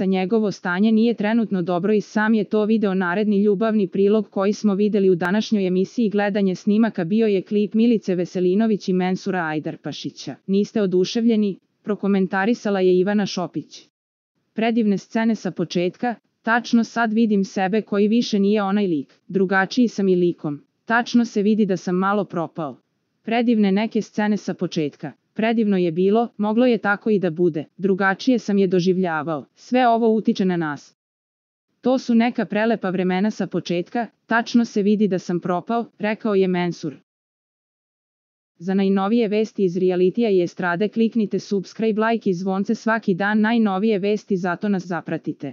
Njegovo stanje nije trenutno dobro i sam je to video. Naredni ljubavni prilog koji smo videli u današnjoj emisiji gledanje snimaka bio je klip Milice Veselinović i Mensura Ajdarpašića. Niste oduševljeni? Prokomentarisala je Ivana Šopić. Predivne scene sa početka, tačno sad vidim sebe koji više nije onaj lik. Drugačiji sam i likom. Tačno se vidi da sam malo propao. Predivne neke scene sa početka. Predivno je bilo, moglo je tako i da bude. Drugačije sam je doživljavao. Sve ovo utiče na nas. To su neka prelepa vremena sa početka, tačno se vidi da sam propao, rekao je Mensur. Za najnovije vesti iz realitija i estrade kliknite subscribe, like i zvonce svaki dan. Najnovije vesti, zato nas zapratite.